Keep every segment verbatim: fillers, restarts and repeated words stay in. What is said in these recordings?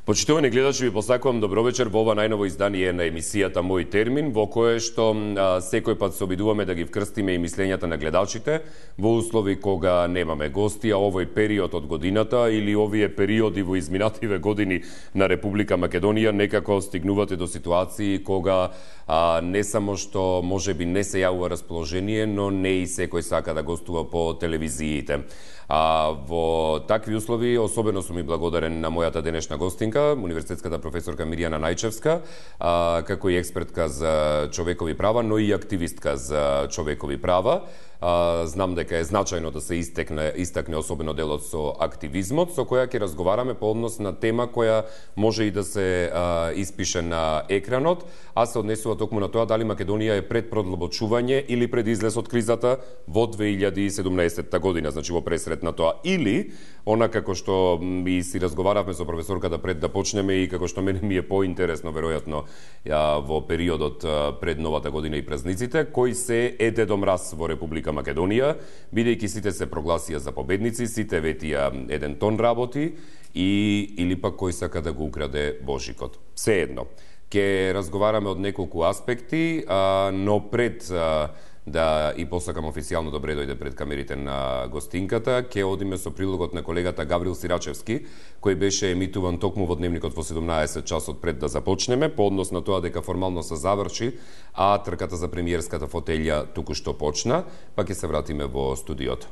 Почитувани гледачи, ви посакувам добро вечер во ова најново издание на емисијата Мој термин, во кое што а, секој пат се обидуваме да ги вкрстиме и мислењата на гледачите во услови кога немаме гости, а овој период од годината или овие периоди во изминативе години на Република Македонија некако стигнувате до ситуации кога а, не само што можеби не се јавува расположение, но не и секој сака да гостува по телевизиите. А, во такви услови особено сум и благодарен на мојата денешна гостинка, универзитетската професорка Мирјана Најчевска, а, како и експертка за човекови права, но и активистка за човекови права. А, знам дека е значајно да се истекне, истакне особено делот со активизмот, со која ќе разговараме по однос на тема која може и да се а, испише на екранот, а се однесува токму на тоа дали Македонија е пред продлабочување или пред излез од кризата во две илјади и седумнаесетта година, значи во пресрет на тоа, или она како што ми си разговаравме со професорката пред да почнеме и како што мене ми е поинтересно веројатно ја, во периодот пред новата година и празниците, кој се е Дедо Мраз во Република Македонија, бидејќи сите се прогласија за победници, сите ветија еден тон работи и или пак кој сака да го украде Божикот. Се едно. Ке разговараме од неколку аспекти, а, но пред а, да и посакам официјално добре дојде пред камерите на гостинката, ке одиме со прилогот на колегата Гаврил Сирачевски, кој беше емитуван токму во Дневникот во седумнаесет часот пред да започнеме, по однос на тоа дека формално се заврши, а трката за премиерската фотелја току-што почна, па ќе се вратиме во студиото.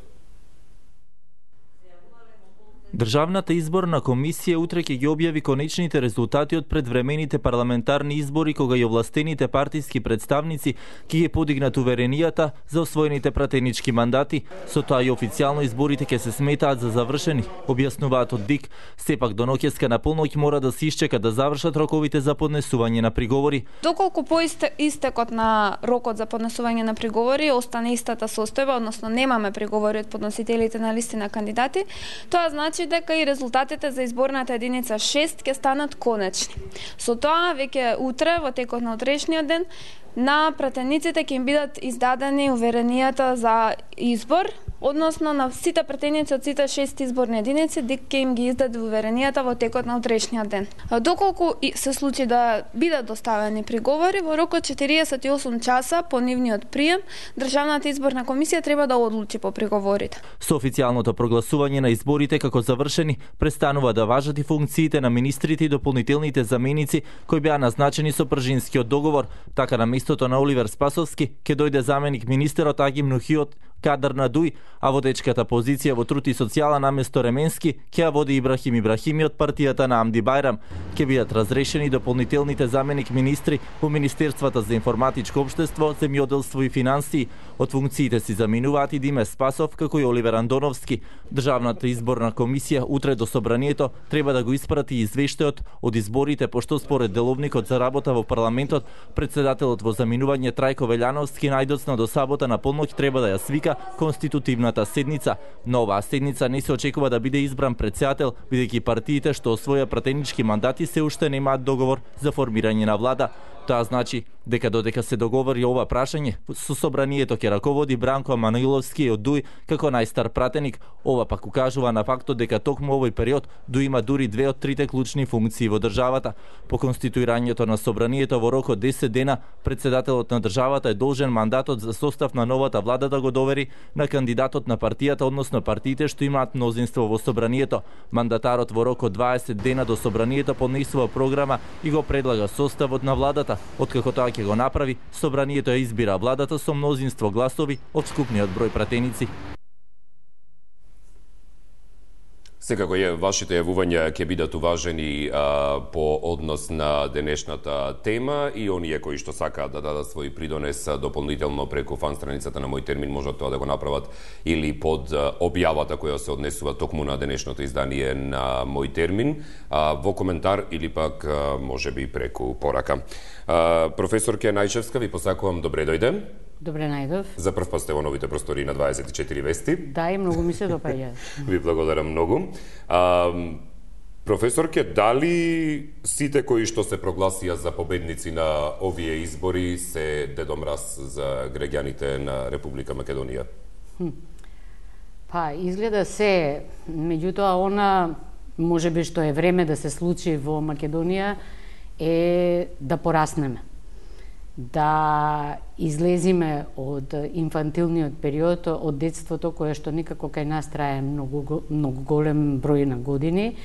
Државната изборна комисија утре ќе ги објави конечните резултати од предвремените парламентарни избори, кога и овластените партиски представници ќе ги подигнат уверенијата за освоените пратенички мандати. Со тоа и официјално изборите ќе се сметаат за завршени, објаснуваат од ДИК. Сепак до ноќеска на полноќ мора да се исчека да завршат роковите за поднесување на приговори. Доколку по истекот на рокот за поднесување на приговори остане истата состојба, односно немаме приговори од подносителите на листи на кандидати, тоа значи дека и резултатите за изборната единица шест ќе станат конечни. Со тоа, веќе утре, во текот на утрешниот ден, на пратениците ќе им бидат издадени уверенијата за избор, односно на сите пратеници од сите шест изборни единици, ДИК ќе им ги издаде уверенијата во текот на утрешниот ден. Доколку се случи да бидат доставени приговори, во рокот четириесет и осум часа по нивниот прием, Државната изборна комисија треба да одлучи по приговорите. Со официјалното прогласување на изборите како завршени, престанува да важат и функциите на министрите и дополнителните заменици кои беа назначени со пржинскиот договор. Така на местото на Оливер Спасовски ќе дојде заменик министерот Аги Мнухиот Кадар Надуј, а водечката позиција во труд и социјала наместо Ременски ќе ја води Ибрахим Ибрахими од партијата на Амди Бајрам. Ќе бидат разрешени дополнителните заменик министри во Министерствата за информатичко општество, земјоделство и финансии. Од функциите си заминуваат и Диме Спасов како и Оливер Андоновски. Државната изборна комисија утре до собранието треба да го испрати извештајот од изборите, пошто според деловникот за работа во парламентот, председателот во заминување Трајко Велјановски најдоцна до сабота на полноќ треба да ја свика конститутивната седница. На оваа седница не се очекува да биде избран председател, бидејќи партиите што освоја пратенички мандати се уште немаат договор за формирање на влада. Тоа значи дека додека се договори ова прашање, со собранието ќе раководи Бранко Маниловски од ДУИ како најстар пратеник. Ова пак укажува на фактот дека токму овој период ДУИ има дури две од трите клучни функции во државата. По конституирањето на собранието во рок од десет дена, председателот на државата е должен мандатот за состав на новата влада да го довери на кандидатот на партијата, односно партиите што имаат мнозинство во собранието. Мандатарот во рок од дваесет дена до собранието поднесува програма и го предлага составот на владата. Откако тоа ќе го направи, собранието ја избира владата со мнозинство гласови од скупниот број пратеници. Секако е, вашите јавувања ќе бидат уважени а, по однос на денешната тема и оние кои што сакаат да дадат свој придонес дополнително преку фан страницата на Мој термин можат тоа да го направат или под објавата која се однесува токму на денешното издание на Мој термин, а, во коментар или пак а, можеби преку порака. А, професорке Најчевска, ви посакувам добре дојде. Добре најдов. За прв пат сте во новите простори на дваесет и четири вести. Да, и многу ми се допаѓа. Ви благодарам многу. А, професорке, дали сите кои што се прогласија за победници на овие избори се Дедо Мраз за граѓаните на Република Македонија? Хм. Па, изгледа се, меѓутоа она можеби што е време да се случи во Македонија е да пораснеме, да излезиме од инфантилниот период, од детството кое што никако кај нас трае многу, многу голем број на години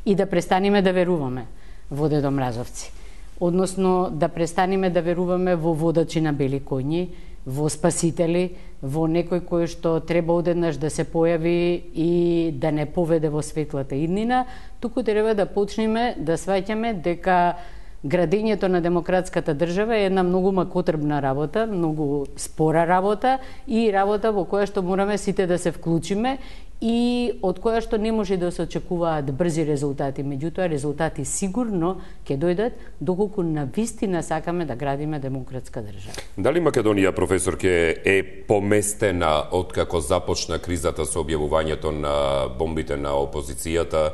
и да престанеме да веруваме во Дедо Мразовци. Односно да престанеме да веруваме во водачи на бели коњи, во спасители, во некој кој што треба одеднаш да се појави и да не поведе во светлата иднина, туку треба да почнеме да сваќаме дека градењето на демократската држава е една многу макотрбна работа, многу спора работа и работа во која што мораме сите да се вклучиме и од која што не може да се очекуваат брзи резултати, меѓутоа резултати сигурно ќе дојдат доколку навистина сакаме да градиме демократска држава. Дали Македонија, професорке, е поместена откако започна кризата со објавувањето на бомбите на опозицијата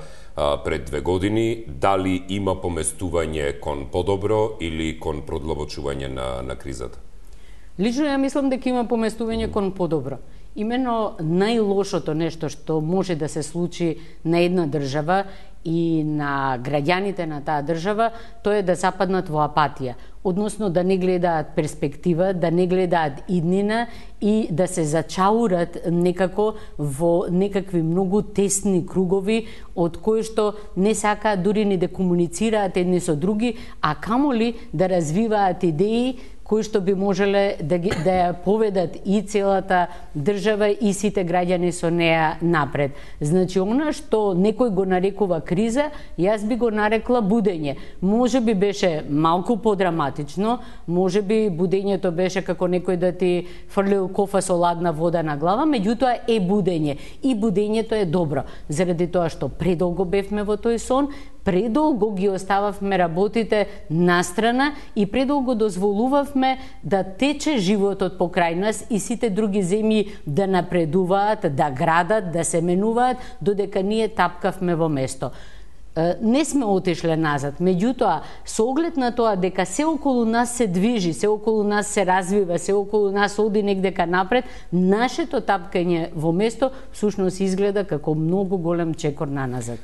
пред две години, дали има поместување кон подобро или кон продлабочување на, на кризата? Лично ја мислам дека има поместување кон подобро. Имено најлошото нешто што може да се случи на една држава и на граѓаните на таа држава, тоа е да западнат во апатија, односно да не гледаат перспектива, да не гледаат иднина и да се зачаурат некако во некакви многу тесни кругови од кои што не сакаат дури ни да комуницираат едни со други, а камоли да развиваат идеи кои што би можеле да, ги, да ја поведат и целата држава и сите граѓани со неа напред. Значи, она што некој го нарекува криза, јас би го нарекла будење. Може би беше малку подраматично, може би будењето беше како некој да ти фрлил кофа со ладна вода на глава, меѓутоа е будење. И будењето е добро, заради тоа што предолго бевме во тој сон, предолго ги остававме работите настрана и предолго дозволувавме да тече животот покрај нас и сите други земји да напредуваат, да градат, да се менуваат, додека ние тапкавме во место. Не сме отишле назад, меѓутоа, со оглед на тоа дека се околу нас се движи, се околу нас се развива, се околу нас оди негдека напред, нашето тапкање во место всушност изгледа како многу голем чекор на назад.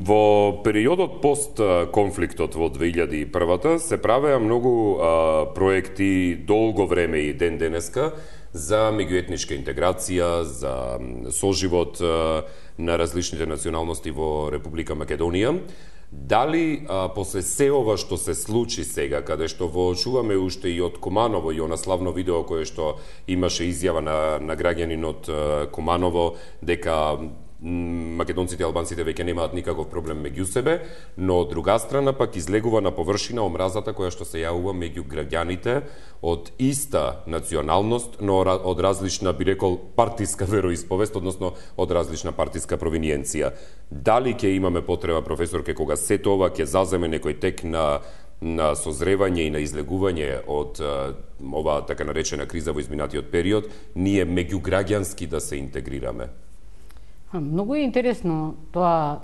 Во периодот пост конфликтот во две илјади и прва се правеа многу а, проекти долго време и ден денеска за меѓуетничка интеграција, за соживот а, на различните националности во Република Македонија. Дали а, после се ова што се случи сега, каде што воочуваме уште и од Куманово и она славно видео кое што имаше изјава на, на граѓанин од Куманово дека македонците и албанците веќе немаат никаков проблем меѓу себе, но од друга страна пак излегува на површина омразата која што се јавува меѓу граѓаните од иста националност, но од различна, би рекол, партиска вероисповест, односно од различна партиска провиниенција. Дали ќе имаме потреба, професорке, кога сето ова ќе заземе некој тек на на созревање и на излегување од а, ова така наречена криза во изминатиот период, ние меѓуграѓански да се интегрираме? Многу е интересно тоа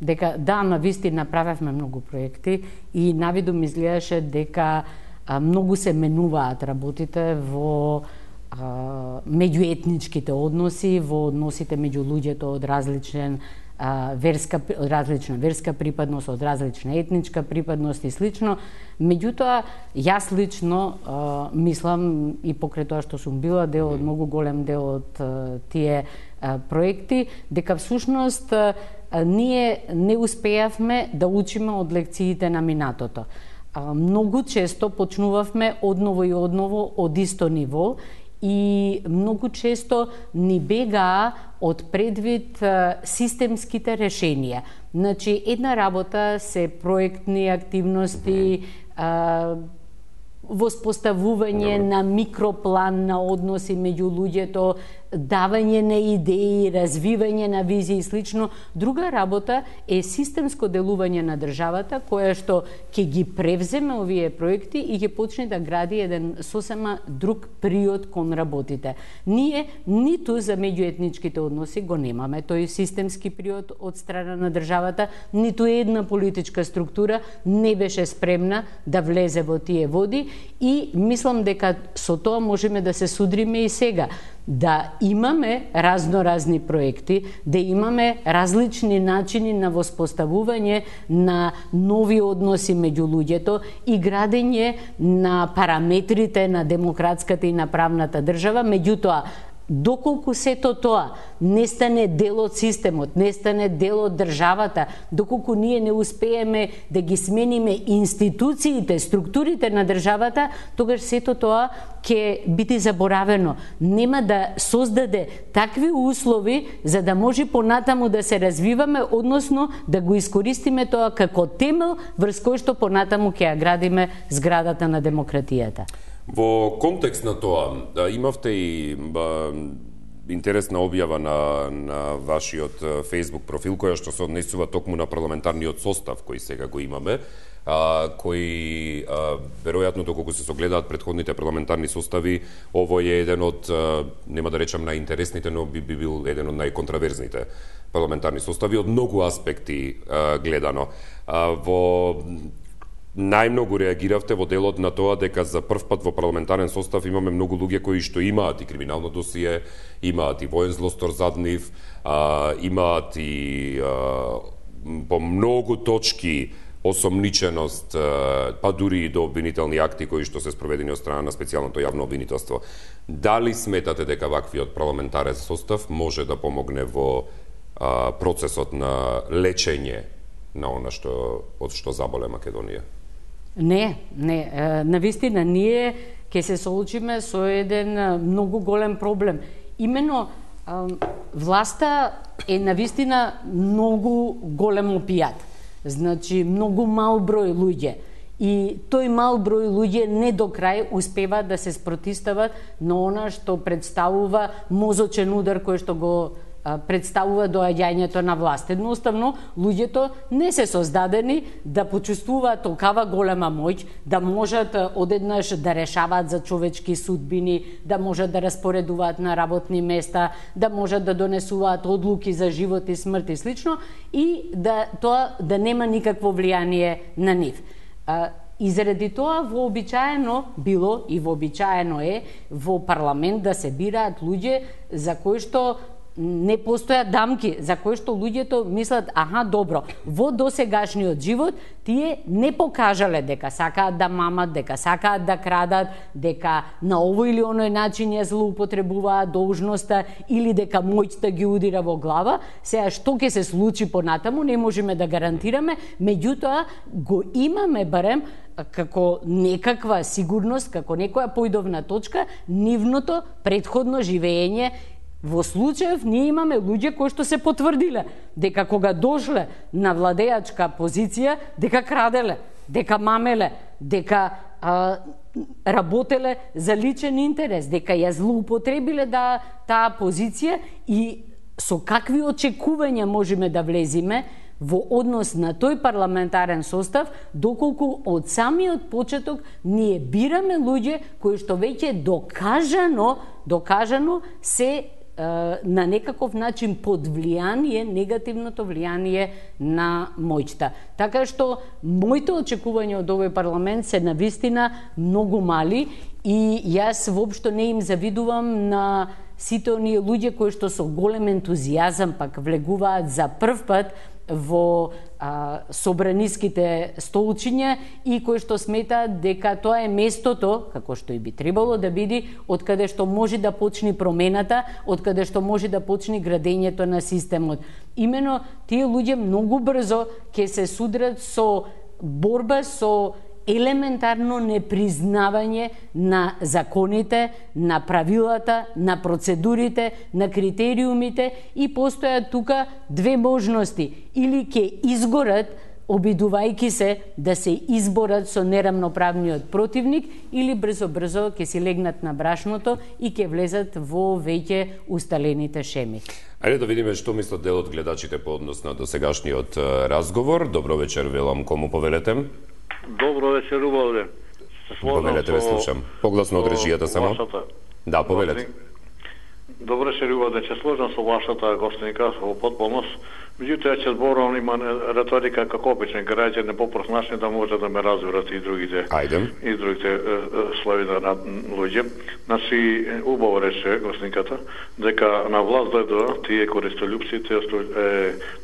дека да, навистина направевме многу проекти и навидум изгледаше дека а, многу се менуваат работите во а, меѓуетничките односи, во односите меѓу луѓето од различен а, верска, различна верска припадност, од различна етничка припадност и слично. Меѓутоа, јас лично а, мислам и покрај тоа што сум била дел од многу голем дел од а, тие а, проекти, дека всушност а, ние не успеавме да учиме од лекциите на минатото. А, многу често почнувавме одново и одново од исто ниво и многу често ни бегаа од предвид а, системските решенија. Значи, една работа се проектни активности, а, воспоставување на микроплан на односи меѓу луѓето, давање на идеи, развивање на визии и слично. Друга работа е системско делување на државата, која што ќе ги превземе овие проекти и ќе почне да гради еден сосема друг приод кон работите. Ние ниту за меѓуетничките односи го немаме тој системски приод од страна на државата, ниту една политичка структура не беше спремна да влезе во тие води и мислам дека со тоа можеме да се судриме и сега. да имаме разноразни проекти, да имаме различни начини на воспоставување на нови односи меѓу луѓето и градење на параметрите на демократската и на правната држава, меѓутоа доколку сето тоа не стане дел од системот, не стане дел од државата, доколку ние не успееме да ги смениме институциите, структурите на државата, тогаш сето тоа ќе биде заборавено. Нема да создаде такви услови за да може понатаму да се развиваме, односно да го искористиме тоа како темел врз кој што понатаму ќе ја градиме зградата на демократијата. Во контекст на тоа, имавте и ба, интересна објава на, на вашиот Facebook профил, која што се однесува токму на парламентарниот состав кој сега го имаме, а, кој а, веројатно доколку се согледаат претходните парламентарни состави, овој е еден од, а, нема да речам најинтересните, но би, би бил еден од најконтраверзните парламентарни состави од многу аспекти а, гледано. А, во најмногу реагиравте во делот на тоа дека за прв пат во парламентарен состав имаме многу луѓе кои што имаат и криминално досие, имаат и воен злостор зад нив, а, имаат и а, по многу точки осомниченост, а, па дури и до обвинителни акти кои што се спроведени од страна на специјалното јавно обвинителство. Дали сметате дека ваквиот парламентарен состав може да помогне во а, процесот на лечење на она што од што заболе Македонија? Не, не, навистина ние ќе се соочиме со еден многу голем проблем. Имено власта е навистина многу голем опијат. Значи многу мал број луѓе. И тој мал број луѓе не до крај успеваат да се спротистават на она што представува мозочен удар кој што го представува доаѓањето на власт. Едноставно, луѓето не се создадени да почувствуваат толкава голема моќ, да можат одеднаш да решаваат за човечки судбини, да можат да распоредуваат на работни места, да можат да донесуваат одлуки за живот и смрт и слично, и да тоа да нема никакво влијание на нив. И заради тоа вообичаено било и вообичаено е во парламент да се бираат луѓе за кои што не постојат дамки, за кои што луѓето мислат, аха, добро, во досегашниот живот тие не покажале дека сакаат да мамат, дека сакаат да крадат, дека на овој или оној начин ја злоупотребуваат должноста или дека моќта ги удира во глава. Сега што ќе се случи понатаму не можеме да гарантираме, меѓутоа го имаме барем како некаква сигурност, како некоја појдовна точка, нивното претходно живење. Во случаев ние имаме луѓе кои што се потврдиле дека кога дошле на владеачка позиција, дека краделе, дека мамеле, дека а, работеле за личен интерес, дека ја злоупотребиле да таа позиција и со какви очекувања можеме да влезиме во однос на тој парламентарен состав, доколку од самиот почеток ние бираме луѓе кои што веќе докажано, докажано се на некаков начин под влијание, негативното влијание на моќта. Така што моите очекувања од овој парламент се навистина многу мали и јас воопшто не им завидувам на сите оние луѓе кои што со голем ентузијазам пак влегуваат за прв пат во а, собраниските столчиња и кои што сметаат дека тоа е местото, како што и би требало да биде, од каде што може да почне промената, од каде што може да почне градењето на системот. Имено тие луѓе многу брзо ќе се судрат со борба со елементарно непризнавање на законите, на правилата, на процедурите, на критериумите и постојат тука две можности. Или ќе изгорат обидувајќи се да се изборат со нерамноправниот противник, или брзо-брзо ќе си легнат на брашното и ќе влезат во веќе усталените шеми. Ајде да видиме што мислат дел од гледачите по однос на досегашниот разговор. Добро вечер, велам, кому повелете? Добро вечер, убавле. Повелете, ве слушам. Погласно од режијата само. Да, повелете. Добре се рува да ќе сложам со вашата гостинка во потполност. Меѓутоа ќе зборувам, има реторика како обичен граѓани попросначни да може да ме разберат и другите. Ајде. И другите слои на луѓе. Значи убаво рече гостинката дека на власт дојдоа тие користолюбците,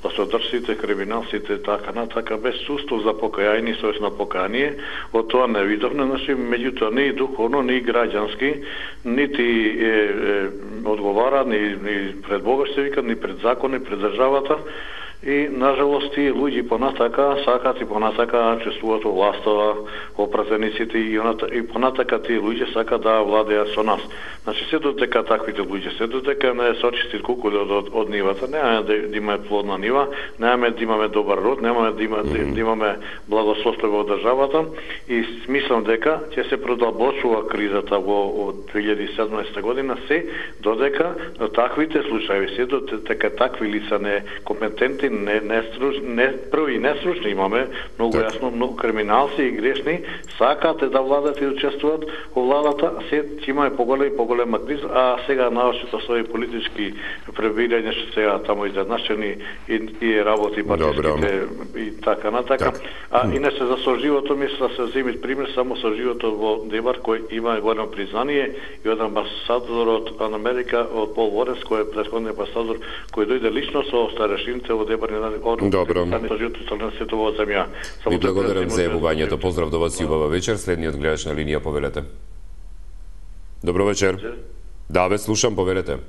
властодржците, криминалците, така натака без чувство за покаяние, совест на покаяние. Од тоа не видовме, значи меѓутоа ни духовно, ни граѓански, нити е, е, одговара ни, ни пред Бога се вика, ни пред закони, пред државата. И, нажалост, тие луѓи понатака сакат и понатака чувствуваат во властова, во пратениците и, и понатака тие луѓе сакат да владеат со нас. Значи, се додека таквите луѓе, се додека не сочисти кукули од, од, од нивата, немаме да, да имаме плодна нива, немаме да имаме добар род, немаме да, има, mm-hmm. да имаме благосостојба од државата и смислам дека ќе се продолбочува кризата во две илјади и седнаесета година, се додека таквите случаи, се додека такви лица не компетентни, не не струч, не први не стручни имаме, многу так. Јасно, многу криминалци и грешни сакаат да владат и учествуваат во владата, се ќе имаме поголема и поголема криза, а сега наочито со политички пребирања што сега таму изедначени и, и работи партиските и така натака. Так. А иначе за со животот мисля се земит пример само со животот во Дебар кој има големо признание и од амбасадорот од Америка, од Пол Ворес, кој е претходниот амбасадор кој дојде лично со старешините во Дебар. Добро. Ви благодарам за јавувањето. Поздрав до вас и убава вечер. Следниот гледач на линија, повелете. Добро вечер. Да, ве слушам, повелете.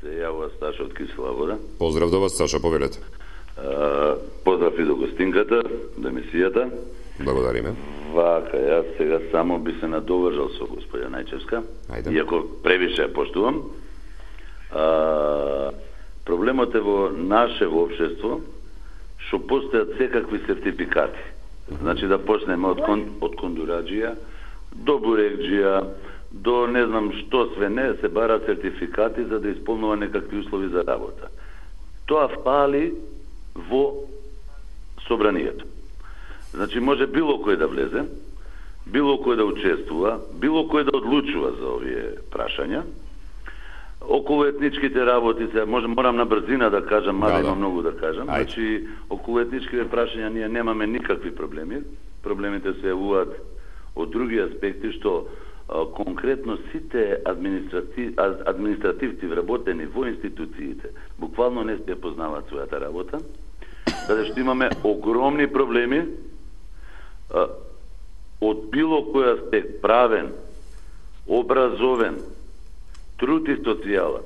Се јавува Сташа од Кисела Вода. Поздрав до вас, Саша, повелете. А, поздрав и до гостинката, до емисијата. Благодариме. Вака, јас сега само би се надовржал со господја Најчевска, Ајде. Иако превише ја поштувам. А, проблемот е во наше во општество што постојат секакви сертификати. Значи да почнеме од кон, од кондураџија до бурекџија, до не знам што све не се бара сертификати за да исполнува некакви услови за работа. Тоа фали во собранието. Значи може било кој да влезе, било кој да учествува, било кој да одлучува за овие прашања. Околу етничките работи, се може морам на брзина да кажам, мада да, има да. многу да кажам. Ајде. Значи околу етничките прашања ние немаме никакви проблеми. Проблемите се јавуваат од други аспекти што а, конкретно сите административ, административци вработени во институциите буквално не се познаваат својата работа. Каде што имаме огромни проблеми а, од било кој аспект, правен, образовен, труд и социјала.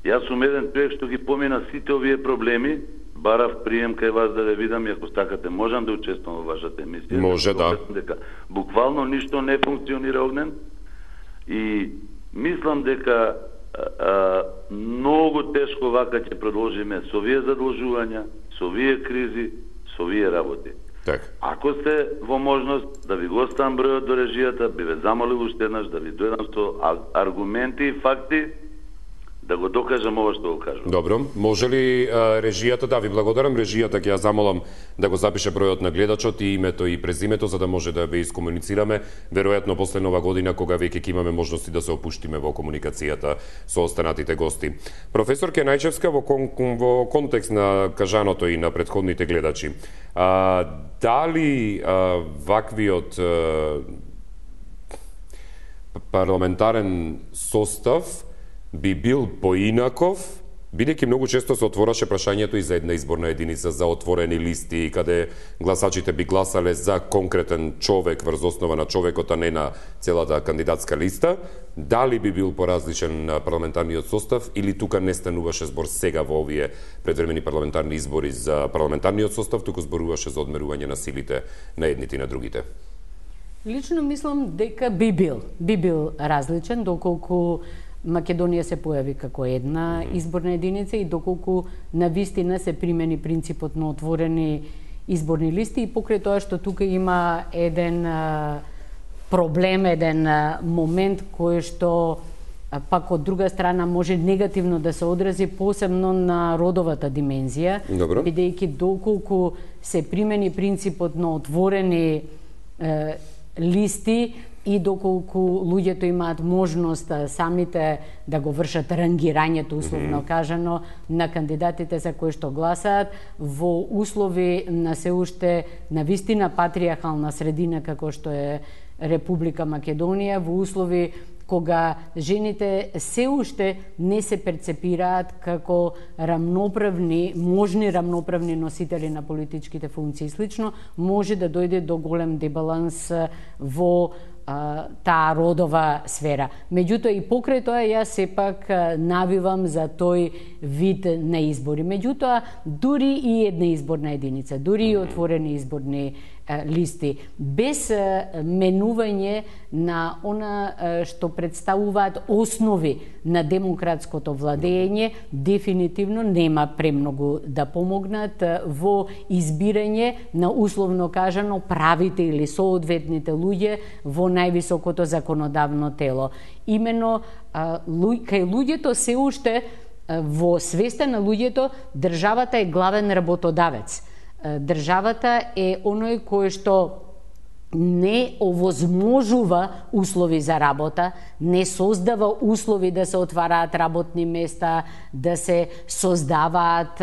Јас сум еден човек што ги помина сите овие проблеми, барав прием кај вас да ве видам и ако стакате можам да учествувам во вашата емисија. Може, да. Дека буквално ништо не функционира огнен и мислам дека а, а, многу тешко вака ќе продолжиме со овие задолжувања, со овие кризи, со овие работи. Так. Ако сте во можност да ви го оставам бројот до режијата, би ве замолил уште еднаш да ви дојдам со аргументи и факти да го докажам ова што го кажам. Добро, може ли а, режијата, да ви благодарам, режијата ќе ја замолам да го запише бројот на гледачот и името и презимето за да може да ве искомуницираме, веројатно после нова година кога веќе ќе имаме можности да се опуштиме во комуникацијата со останатите гости. Професорке Најчевска, во, кон, во контекст на кажаното и на претходните гледачи, а, дали а, ваквиот а, парламентарен состав би бил поинаков, бидејќи многу често се отвораше прашањето и за една изборна единица, за отворени листи, каде гласачите би гласале за конкретен човек врз основа на човекот, а не на целата кандидатска листа, дали би бил поразличен парламентарниот состав или тука не стануваше збор сега во овие предвремени парламентарни избори за парламентарниот состав, туку зборуваше за одмерување на силите на едните и на другите? Лично мислам дека би бил, би бил различен, доколку Македонија се појави како една изборна единица и доколку навистина се примени принципот на отворени изборни листи и покрај тоа што тука има еден а, проблем, еден а, момент кој што а, пак од друга страна може негативно да се одрази посебно на родовата димензија, бидејќи доколку се примени принципот на отворени е, листи и доколку луѓето имаат можност самите да го вршат рангирањето, условно кажано, на кандидатите за кои што гласаат, во услови на се уште на вистина патриархална средина како што е Република Македонија, во услови кога жените се уште не се перцепираат како рамноправни, можни рамноправни носители на политичките функции. Слично може да дојде до голем дебаланс во а, таа родова сфера. Меѓутоа и покрај тоа јас сепак навивам за тој вид на избори. Меѓутоа дури и една изборна единица, дури и отворени изборни листи, без менување на она што представуваат основи на демократското владење, дефинитивно нема премногу да помогнат во избирање на, условно кажано, правите или соодветните луѓе во највисокото законодавно тело. Имено кај луѓето се уште во свеста на луѓето државата е главен работодавец. Државата е оној кој што не овозможува услови за работа, не создава услови да се отвараат работни места, да се создаваат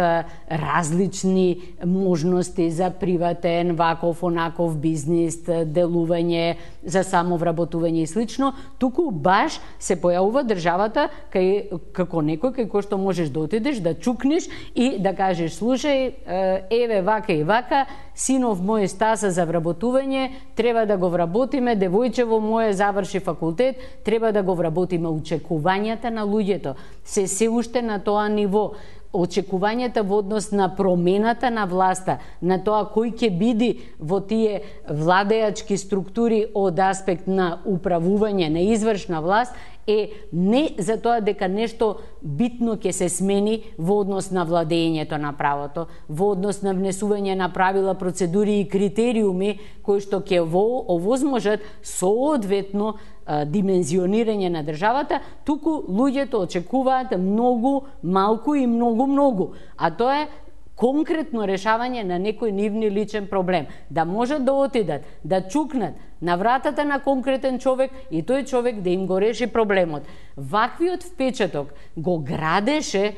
различни можности за приватен, ваков, онаков бизнис, делување, за самовработување и слично, туку баш се појавува државата кај, како некој кај кој што можеш да отидеш, да чукнеш и да кажеш: слушај, еве вака и вака, синов мој стаса за вработување, треба да го вработиме, девојчево моје заврши факултет, треба да го вработиме. Очекувањата на луѓето се се уште на тоа ниво. Очекувањата во однос на промената на власта, на тоа кој ќе биде во тие владеачки структури од аспект на управување, на извршна власт, е не за тоа дека нешто битно ќе се смени во однос на владењето на правото, во однос на внесување на правила, процедури и критериуми кои што ќе овозможат соодветно димензионирање на државата, туку луѓето очекуваат многу малку и многу многу, а тоа е конкретно решавање на некој нивни личен проблем, да можат да отидат, да чукнат на вратата на конкретен човек и тој човек да им го реши проблемот. Ваквиот впечаток го градеше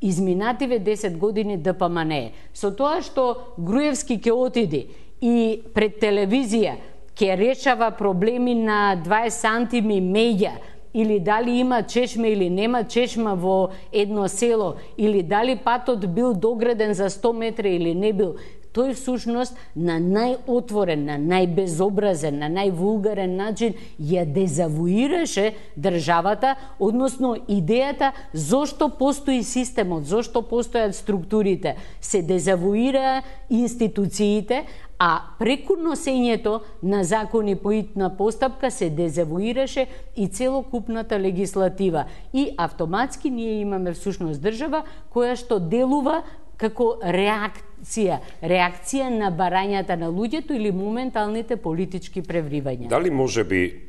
изминативе десет години Д П М Н Е. Со тоа што Груевски ќе отиде и пред телевизија ќе решава проблеми на дваесет сантими меѓа, или дали има чешма или нема чешма во едно село, или дали патот бил дограден за сто метри или не бил, тој всушност на најотворен, на најбезобразен, на највулгарен начин ја дезавуираше државата, односно идејата зошто постои системот, зошто постојат структурите, се дезавуира институциите, а преку носењето на закони по итна постапка се дезавуираше и целокупната легислатива. И автоматски ние имаме всушност држава која што делува како реакција, реакција на барањата на луѓето или моменталните политички превривања. Дали може би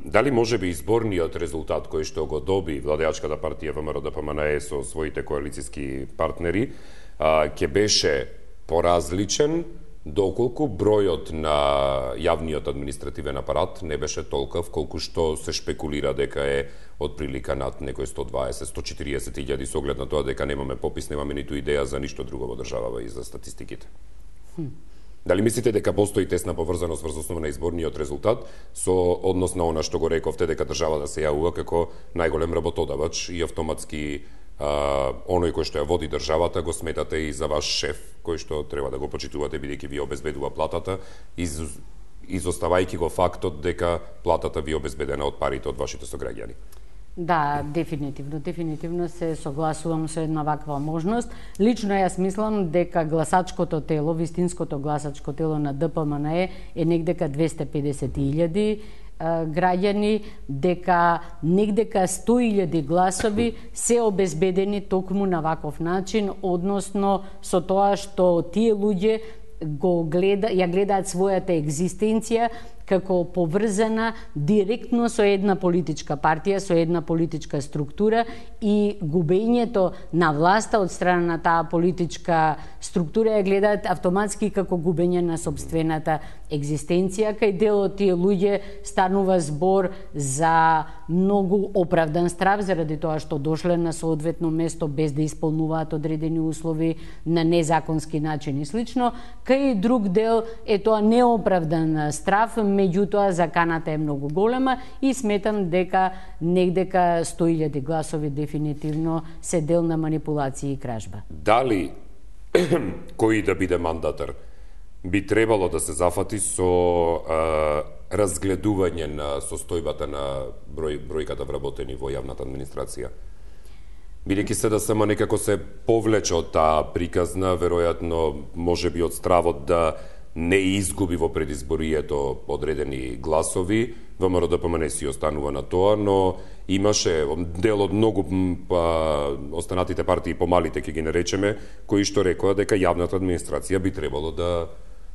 дали може би изборниот резултат кој што го доби владеачката партија ВМРО Д П М Н Е со своите коалициски партнери ќе беше поразличен доколку бројот на јавниот административен апарат не беше толков колку што се шпекулира дека е од прилика над некој сто дваесет до сто четириесет илјади, со оглед на тоа дека немаме попис, немаме ниту идеја за ништо друго во државава и за статистиките. Хм. Дали мислите дека постои тесна поврзаност врз основа на изборниот резултат со однос на она што го рековте, дека државата се јавува како најголем работодавач и автоматски Uh, оној кој што ја води државата го сметате и за ваш шеф, кој што треба да го почитувате бидејќи ви обезбедува платата, из, изоставајќи го фактот дека платата ви обезбедена од парите од вашите сограѓани? Да, дефинитивно, дефинитивно се согласувам со една ваква можност. Лично јас мислам дека гласачкото тело, вистинското гласачко тело на Д П М Н Е е негдека двесте и педесет илјади граѓани, дека негдека сто илјади гласови се обезбедени токму на ваков начин, односно со тоа што тие луѓе го гледа, ја гледаат својата екзистенција како поврзана директно со една политичка партија, со една политичка структура, и губењето на власта од страна на таа политичка структура ја гледаат автоматски како губење на собствената екзистенција. Кај дел од тие луѓе станува збор за многу оправдан страв заради тоа што дошле на соодветно место без да исполнуваат одредени услови на незаконски начин и слично. Кај друг дел е тоа неоправдан страв, меѓутоа заканата е многу голема и сметам дека негдека сто илјади гласови дефинитивно се дел на манипулација и кражба. Дали кој да биде мандатар би требало да се зафати со а, разгледување на состојбата на број, бројката вработени во јавната администрација? Бидејќи се да само некако се повлече од таа приказна, веројатно може би од стравот да не изгуби во предизборието одредени гласови, ВМРО-ДПМН си останува на тоа, но имаше дел од многу па, останатите партии, помалите ќе ги наречеме, кои што рекоа дека јавната администрација би требало да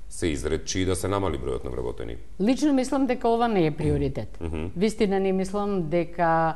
се изречи и да се намали бројот на вработени. Лично мислам дека ова не е приоритет. Mm -hmm. Вистина не мислам дека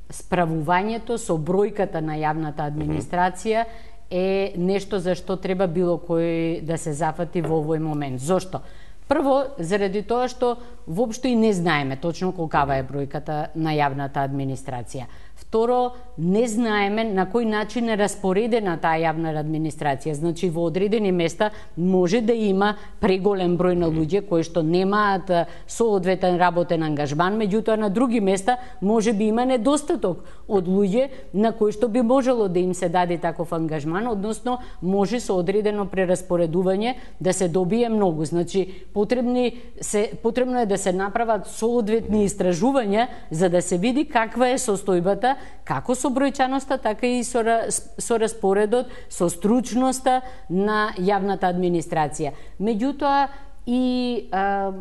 справувањето со бројката на јавната администрација е нешто за што треба било кој да се зафати во овој момент. Зошто? Прво, заради тоа што воопшто и не знаеме точно колкава е бројката на јавната администрација. Второ, не знаеме на кој начин е распоредена таа јавна администрација. Значи, во одредени места може да има преголем број на луѓе кои што немаат соодветен работен ангажман, меѓутоа на други места може би има недостаток од луѓе на кои што би можело да им се даде таков ангажман, односно може со одредено прераспоредување да се добие многу. Значи, потребни се потребно е да се направат соодветни истражувања за да се види каква е состојбата како со бројчаноста, така и со, со распоредот, со стручноста на јавната администрација. Меѓутоа, и а,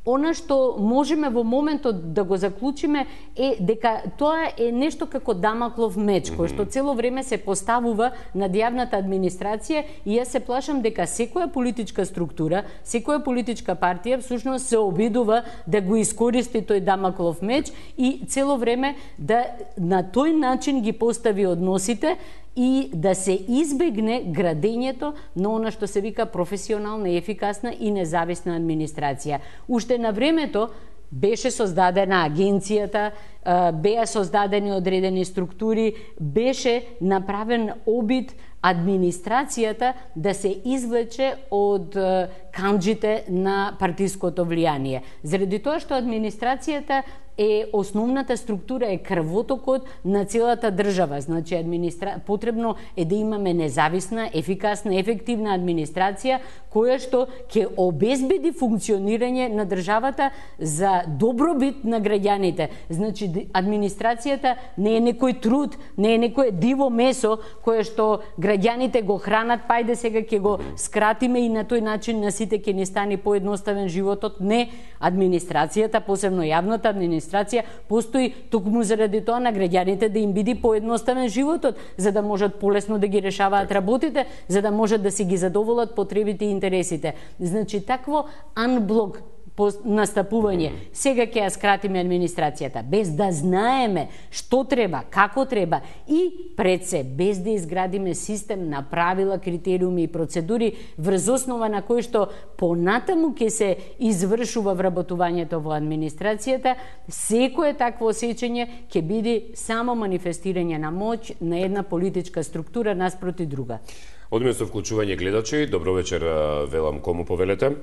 она што можеме во моментот да го заклучиме е дека тоа е нешто како дамаклов меч, кој што цело време се поставува над јавната администрација, и јас се плашам дека секоја политичка структура, секоја политичка партија всушност се обидува да го искористи тој дамаклов меч и цело време да на тој начин ги постави односите и да се избегне градењето на она што се вика професионална, ефикасна и независна администрација. Уште на времето беше создадена агенцијата, беа создадени одредени структури, беше направен обид администрацијата да се извлече од канџите на партиското влијание. Заради тоа што администрацијата е основната структура, е крвотокот на целата држава. Значи, администра... потребно е да имаме независна, ефикасна, ефективна администрација која што ќе обезбеди функционирање на државата за добробит на граѓаните. Значи, администрацијата не е некој труд, не е некое диво месо кое што граѓаните го хранат, пајде сега ќе го скратиме и на тој начин на сите ќе ни стане поедноставен животот. Не, администрацијата, посебно јавната администрација, постои токму заради тоа на граѓаните да им биде поедноставен животот, за да можат полесно да ги решаваат работите, за да можат да си ги задоволат потребите и интересите. Значи, такво анблок настапување. Сега ќе ја скратиме администрацијата, без да знаеме што треба, како треба и пред се, без да изградиме систем на правила, критериуми и процедури врз основа на кои што понатаму ќе се извршува вработувањето во администрацијата, секое такво осеќање ќе биде само манифестирање на моќ на една политичка структура наспроти друга. Одиме со вклучување гледачи. Добро вечер, велам, кому повелете?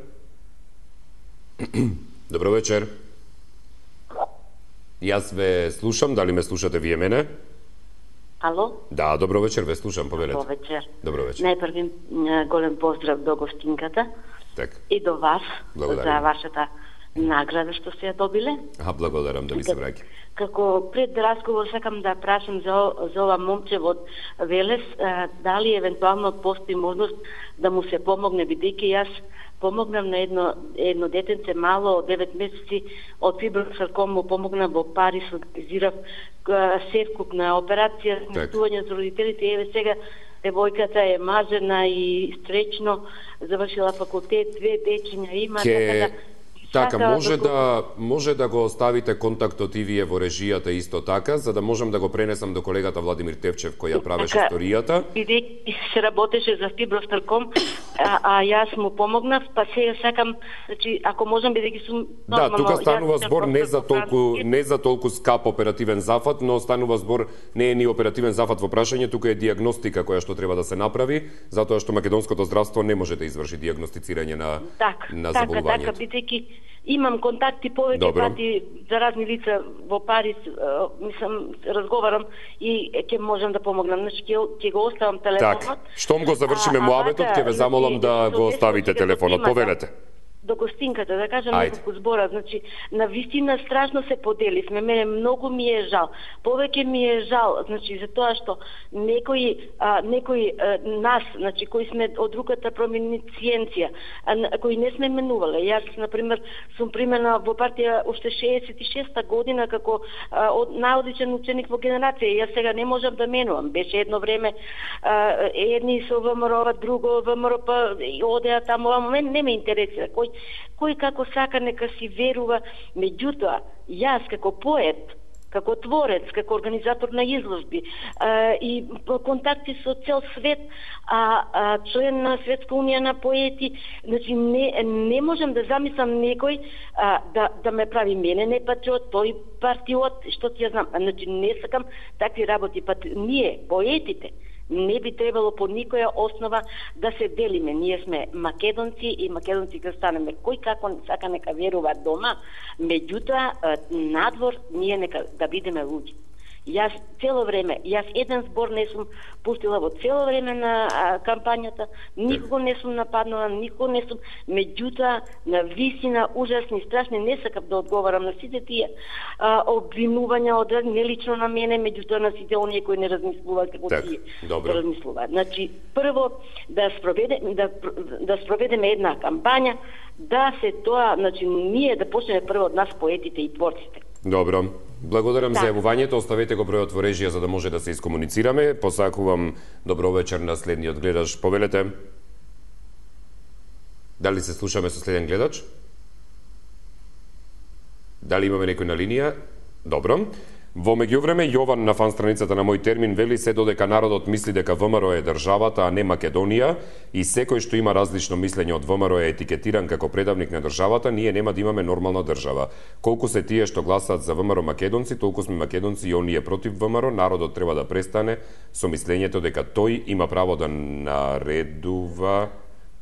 Добро вечер. Јас ве слушам, дали ме слушате вие мене? Ало? Да, добро вечер, ве слушам, повелете. Добро вечер. Добро вечер. Најпрви голем поздрав до гостинката. Так. И до вас. Благодарам. За вашата награда што сте ја добиле. А, благодарам, да ви се враќа. Како пред разговор сакам да прашам за, за ова момче од Велес, дали евентуално постои можност да му се помогне, бидејќи јас помогнав на едно, едно детенце мало од девет месеци од фибросарком, му помогнав во Париз, организирав севкуп на операција, сместување за родителите, еве сега девојката е мажена и стречно, завршила факултет, две дечиња има, Ке... така да Така, сака може да, да може да го оставите контактот и вие во режијата исто така, за да можам да го пренесам до колегата Владимир Тевчев кој ја правеше така, историјата. Бидејќи се работеше за Фибростарком, а, а јас му помогнав, па сега сакам, значи ако можам бидејќи сум Да, тука станува збор не за толку не за толку скап оперативен зафат, но станува збор не е ни оперативен зафат во прашање, тука е дијагностика која што треба да се направи, затоа што македонското здравство не може да изврши дијагностицирање на так, на така, заболувањето. така, бидејќи имам контакти повеќе Добро. пати за разни лица во Париз, мислам, разговарам и ќе можам да помогнам. Значи, ќе, ќе го оставам телефонот. Так, штом го завршиме а, муабетот, вака, ќе ве замолам значи, да со го нешто оставите ќе телефонот. го примата. Повелете. До гостинката, да кажам Ајде. неколку збора, значи, на вистина страшно се поделивме, мене многу ми е жал. Повеќе ми е жал, значи, за тоа што некои, а, некои а, нас, значи, кои сме од руката проминициенција, а, кои не сме менувале. Јас, например, сум примена во партија уште шеесет и шеста година како а, од, наодличен ученик во генерација. Јас сега не можам да менувам. Беше едно време а, едни со ВМРО, друго ВМРО, па одеа таму, ама мен не ме интересира. Кој, кој како сака нека си верува, меѓутоа, јас како поет, како творец, како организатор на изложби а, и контакти со цел свет, а, а член на Светска унија на поети, значи не, не можам да замислам некој а, да, да ме прави мене не патриот, тој партиот, што ти ја знам, значи не сакам такви работи, па ние, поетите, не би требало по никоја основа да се делиме. Ние сме македонци и македонци ќе станеме. Кој како сака нека верува дома, меѓутоа надвор ние нека да бидеме луѓе. Јас цело време, јас еден збор не сум пуштила во цело време на а, кампањата, никого не сум нападнала, никого не сум, меѓутоа на висина ужасни, страшни, не сакам да одговарам на сите тие а, обвинувања од не лично на мене, меѓутоа на сите оние кои не размислуваат како так, тие добро. размислуваат. Значи, прво да спроведеме да да спроведеме една кампања, да се тоа, значи ние да почнеме прво од нас поетите и творците. Добро. Благодарам Так. за јавувањето, оставете го бројот во режија за да може да се искомуницираме. Посакувам добро вечер на следниот гледач. Повелете. Дали се слушаме со следен гледач? Дали имаме некој на линија? Добро. Во меѓувреме, Јован на фан страницата на Мој термин вели се додека народот мисли дека ВМРО е државата, а не Македонија, и секој што има различно мислење од ВМРО е етикетиран како предавник на државата, ние нема да имаме нормална држава. Колку се тие што гласаат за ВМРО македонци, толку сме македонци и оние против ВМРО, народот треба да престане со мислењето дека тој има право да наредува,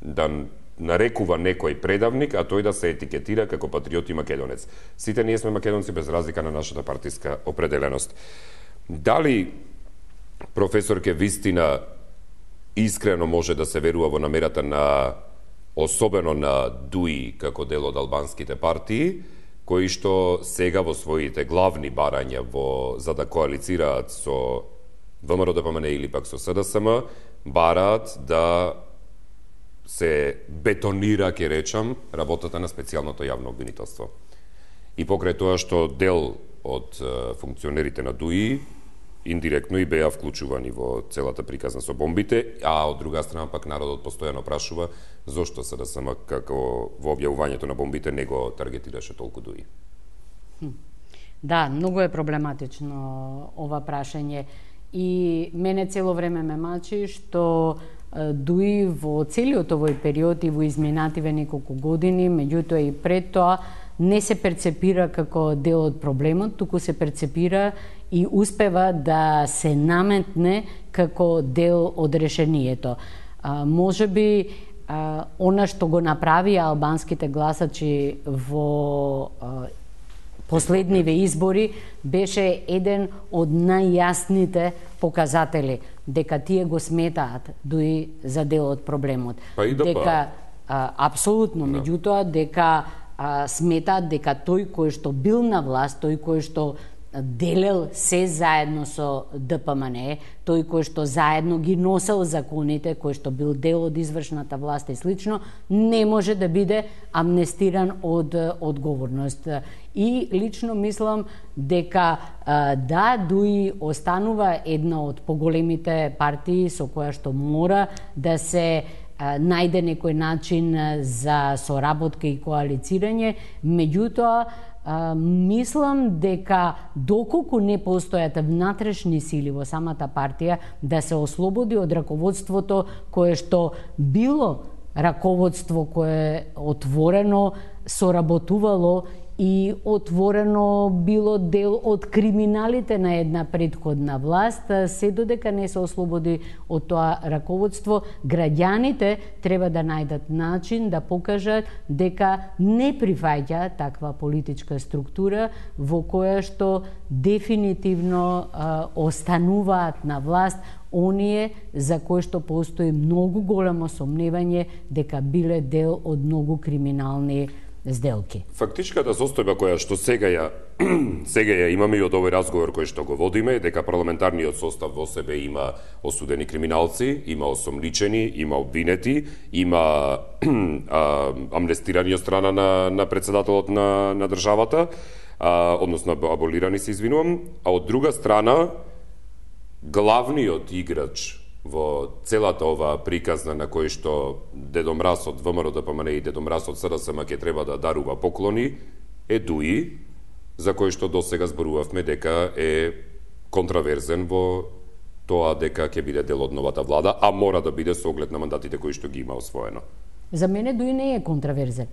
да нарекува некој предавник, а тој да се етикетира како патриот и македонец. Сите ние сме македонци без разлика на нашата партиска определеност. Дали професорке вистина искрено може да се верува во намерата на особено на ДУИ како дел од албанските партии, кои што сега во своите главни барања во за да коалицираат со ВМРО Д П М Н или пак со С Д С М, бараат да се бетонира, ќе речам, работата на специјалното јавно обвинителство. И покрај тоа што дел од функционерите на ДУИ индиректно и беа вклучувани во целата приказна со бомбите, а од друга страна пак народот постојано прашува зошто С Д С М како во објавувањето на бомбите не го таргетираше толку ДУИ. Да, многу е проблематично ова прашање и мене цело време ме мачи што ДУИ во целиот овој период и во изминативе неколку години, меѓутоа и пред тоа, не се перцепира како дел од проблемот, туку се перцепира и успева да се наметне како дел од решението. А, може би, а, она што го направи албанските гласачи во а, последниве избори беше еден од најјасните показатели дека тие го сметаат дуи за дел од проблемот. Па и да дека па. а, апсолутно, Да. меѓутоа дека а, сметаат дека тој кој што бил на власт, тој кој што делел се заедно со Д П М Н, тој кој што заедно ги носел законите, кој што бил дел од извршната власт и слично, не може да биде амнестиран од одговорност. И лично мислам дека да, ДУИ останува една од поголемите партии со која што мора да се најде некој начин за соработка и коалицирање, меѓутоа а, мислам дека доколку не постојат внатрешни сили во самата партија да се ослободи од раководството кое што било раководство кое отворено соработувало и отворено било дел од криминалите на една претходна власт, се додека не се ослободи од тоа раководство, граѓаните треба да најдат начин да покажат дека не прифаќа таква политичка структура во која што дефинитивно а, остануваат на власт оние за кои што постои многу големо сомневање дека биле дел од многу криминални сделки. Фактичката состојба која што сега ја сега ја имаме и од овој разговор кој што го водиме е дека парламентарниот состав во себе има осудени криминалци, има осомничени, има обвинети, има а, амнестирани од страна на, на председателот на, на државата, а, односно аболирани се извинувам, а од друга страна главниот играч во целата ова приказна на кој што Дедо Мраз од ВМРО Д П М Н и Дедо Мраз од С Д С М ќе треба да дарува поклони, е Дуи, за кој што досега зборувавме дека е контраверзен во тоа дека ќе биде дел од новата влада, а мора да биде со оглед на мандатите кои што ги има освоено. За мене Дуи не е контраверзен.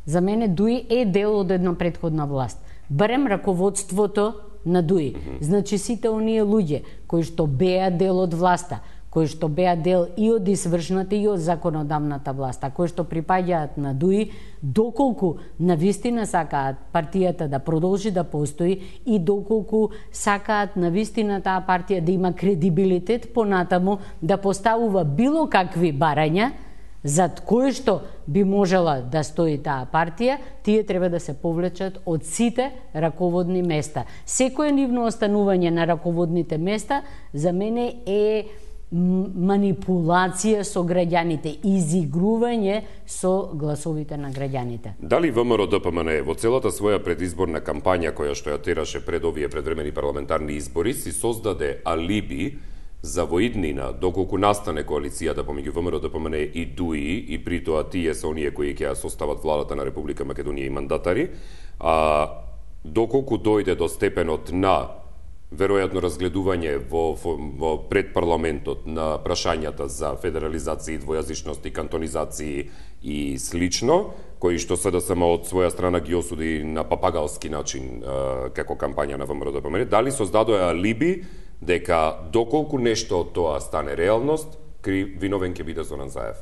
За мене Дуи е дел од една претходна власт. Барем раководството на Дуи. Mm-hmm. Значи сите оние луѓе кои што беа дел од власта, кои што беа дел и од извршната и од законодавната власт, а кои што припаѓаат на Дуи, доколку навистина сакаат партијата да продолжи да постои и доколку сакаат навистина таа партија да има кредибилитет понатаму да поставува било какви барања зад кои што би можела да стои таа партија, тие треба да се повлечат од сите раководни места. Секое нивно останување на раководните места за мене е манипулација со граѓаните, изигрување со гласовите на граѓаните. Дали ВМРО Д П М Н во целата своја предизборна кампања која што ја тераше пред овие предвремени парламентарни избори си создаде алиби за во иднина, доколку настане коалицијата помеѓу ВМРО Д П М Н и Дуи, и при тоа тие се оние кои ќе ја состават владата на Република Македонија и мандатари, а доколку дојде до степенот на веројатно разгледување во, во, во пред парламентот на прашањата за федерализација, двојазичност и кантонизација и слично, кои што С Д С М од своја страна ги осуди на папагалски начин а, како кампања на ВМРО Д П М Н, дали создадоа алиби дека доколку нешто од тоа стане реалност, виновен ќе биде Зоран Заев?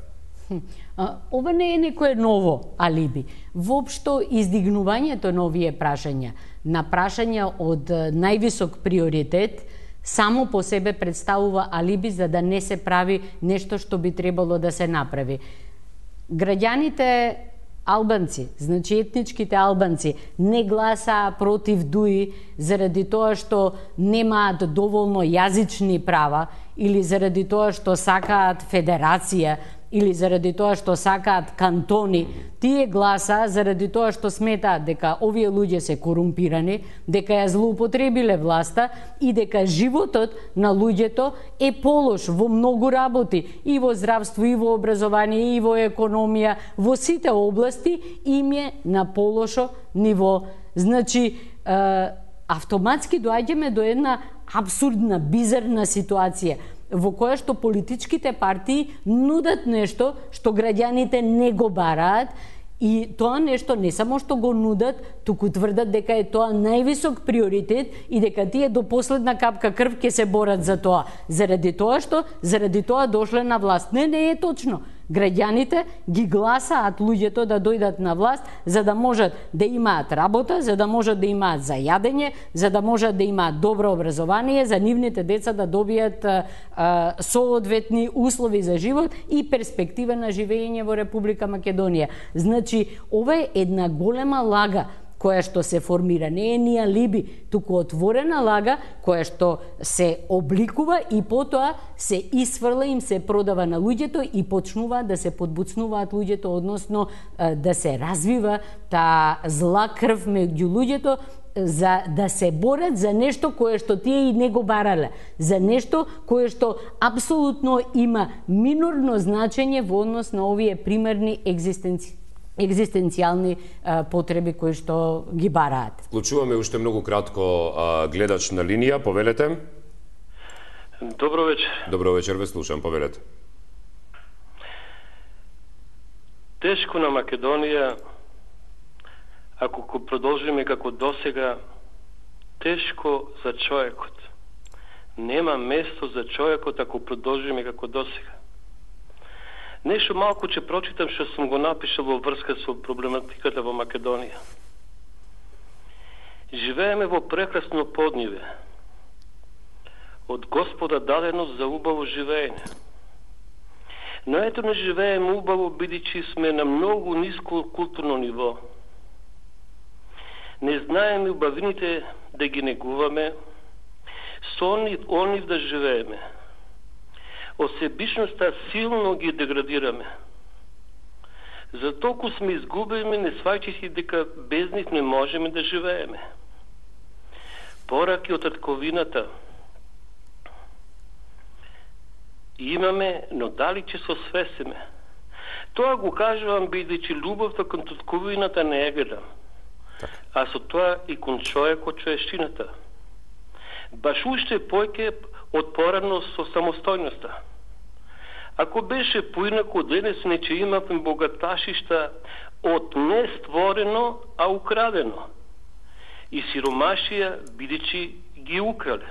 Ова не е некое ново алиби. Воопшто издигнувањето на овие прашања, на прашања од највисок приоритет, само по себе представува алиби за да не се прави нешто што би требало да се направи. Граѓаните албанци, значи етничките албанци, не гласаа против Дуи заради тоа што немаат доволно јазични права или заради тоа што сакаат федерација или заради тоа што сакаат кантони. Тие гласа заради тоа што сметаат дека овие луѓе се корумпирани, дека ја злоупотребиле власта и дека животот на луѓето е полош во многу работи, и во здравство, и во образование, и во економија, во сите области им е на полошо ниво. Значи, е, автоматски доаѓаме до една абсурдна, бизарна ситуација во која што политичките партии нудат нешто што граѓаните не го бараат, и тоа нешто не само што го нудат, туку тврдат дека е тоа највисок приоритет и дека тие до последна капка крв ќе се борат за тоа. Заради тоа што заради тоа дошле на власт. Не, не е точно. Граѓаните ги гласаат луѓето да дојдат на власт за да можат да имаат работа, за да можат да имаат за јадење, за да можат да имаат добро образование, за нивните деца да добијат а, а, соодветни услови за живот и перспектива на живење во Република Македонија. Значи, ова е една голема лага која што се формира, не е ни алиби, туку отворена лага која што се обликува и потоа се исфрла, им се продава на луѓето и почнува да се подбуцнуваат луѓето, односно да се развива таа зла крв меѓу луѓето, за да се борат за нешто кое што тие и не го барале, за нешто кое што апсолутно има минорно значење во однос на овие примерни екзистенци екзистенцијални а, потреби кои што ги бараат. Вклучуваме уште многу кратко а, гледач на линија, повелете. Добро вечер. Добро вечер, ве слушам, повелете. Тешко на Македонија, ако го продолжиме како досега, тешко за човекот. Нема место за човекот ако продолжиме како досега. Нешто малку ќе прочитам што сум го напишал во врска со проблематиката во Македонија. Живееме во прекрасно подниве. Од Господа дадено за убаво живеење. Но ето не живееме убаво, бидејќи сме на многу ниско културно ниво. Не знаеме убавините да ги негуваме, со онив, онив да живееме. Осебичноста силно ги деградираме. За толку сме изгубени, не сваќајќи дека без нив не можеме да живееме. Пораки од татковината имаме, но дали ќе се освесиме? Тоа го кажувам бидејќи љубовта кон татковината не е гледам, а со тоа и кон човекот човечината. Баш уште појке од порано со самостојноста. Ако беше поинако, денес не ќе имаме богаташишта од не створено, а украдено. И сиромашија, бидејќи ги украле.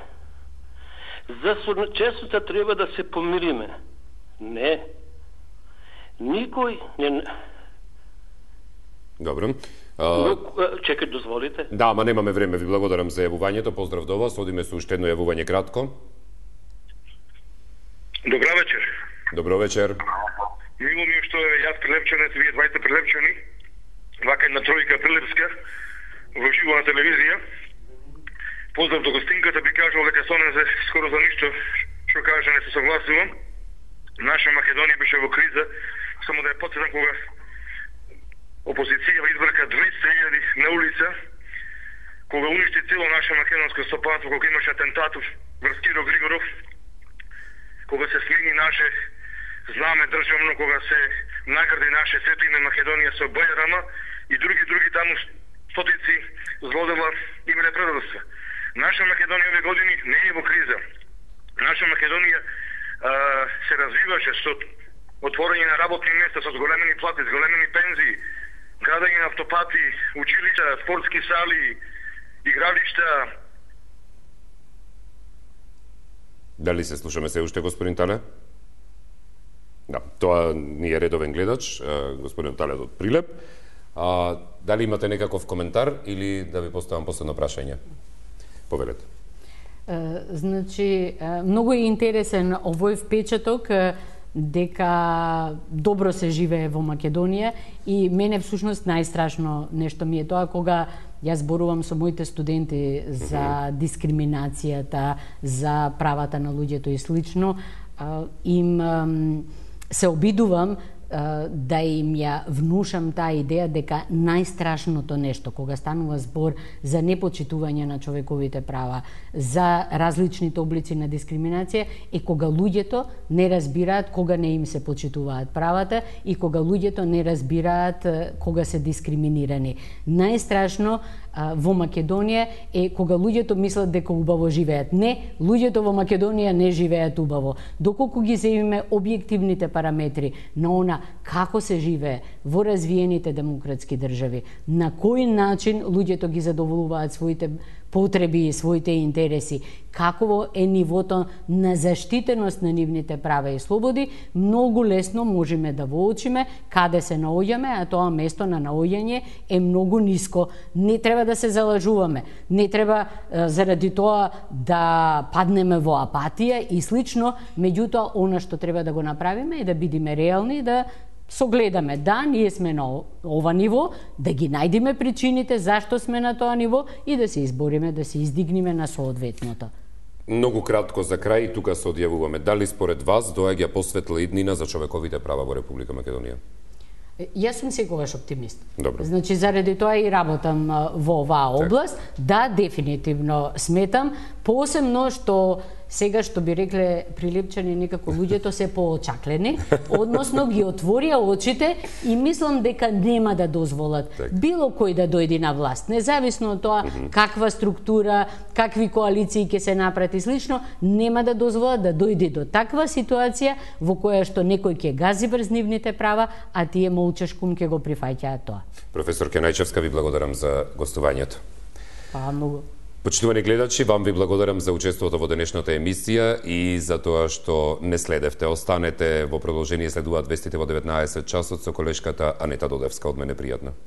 За честота треба да се помириме. Не. Никој не... Добро. Но, чекај, дозволите. Да, ама немаме време. Ви благодарам за јавувањето. Поздрав до вас. Одиме со уште едно јавување кратко. Добра вечер. Добро вечер. Мило ми е што јас прилепчанец, вие двајте прилепчани, вака една тројка прилепска, во живо на телевизија. Поздрав до гостинката, би кажал дека со не за скоро за ништо што кажа не се согласувам. Наша Македонија беше во криза, само да ја потсетам кога опозиција избрака двеста илјади на улица, кога уништи цело наше македонско стопанство, кога имаше атентатов врз Киро Григоров, кога се смени наше знаме државно, кога се награди наше сето име Македонија со Бајрама и други други таму стотици злодела имале предадоста. Наша Македонија овие години не е во криза. Наша Македонија а, се развиваше со отворање на работни места, со зголемени плати, зголемени пензии, градење на автопати, училишта, спортски сали, игралишта. Дали се слушаме се уште, господин Тале? Да, тоа ни е редовен гледач, господин Тале од Прилеп. А, дали имате некаков коментар или да ви поставам последно прашање? Повелете. Значи, многу е интересен овој впечаток дека добро се живее во Македонија и мене всушност најстрашно нешто ми е тоа кога јас зборувам со моите студенти за дискриминацијата, за правата на луѓето и слично, им се обидувам да им ја внушам таа идеја дека најстрашното нешто кога станува збор за непочитување на човековите права, за различните облици на дискриминација е кога луѓето не разбираат кога не им се почитуваат правата и кога луѓето не разбираат кога се дискриминирани. Најстрашно во Македонија е кога луѓето мислат дека убаво живеат. Не, луѓето во Македонија не живеат убаво. Доколку ги земиме објективните параметри на она како се живее во развиените демократски држави, на кој начин луѓето ги задоволуваат своите потреби и своите интереси, каково е нивото на заштитеност на нивните права и слободи, многу лесно можеме да воочиме каде се наоѓаме, а тоа место на наоѓање е многу ниско. Не треба да се залажуваме, не треба заради тоа да паднеме во апатија и слично, меѓутоа она што треба да го направиме е да бидеме реални и да согледаме, да, ние сме на ова ниво, да ги најдеме причините зашто сме на тоа ниво и да се избориме, да се издигнеме на соодветното. Многу кратко за крај, тука се одјавуваме. Дали според вас доаѓа посветла иднина за човековите права во Република Македонија? Јас сум секогаш оптимист. Добро. Значи, заради тоа и работам во оваа област. Да, дефинитивно сметам, посебно што сега што би рекле прилепчани некако луѓето се поочаклени, односно ги отворија очите и мислам дека нема да дозволат так. било кој да дојде на власт, независно од тоа mm -hmm. каква структура, какви коалиции ќе се направат и слично, нема да дозволат да дојде до таква ситуација во која што некој ќе гази врз нивните права, а тие молчешкум ќе го прифаќаат тоа. Професор Кенајчевска, ви благодарам за гостувањето. Па, многу. Почитувани гледачи, вам ви благодарам за учеството во денешната емисија и за тоа што не следевте. Останете во продолжение, следуваат вестите во деветнаесет часот со колешката Анета Додевска. Од мене пријатно.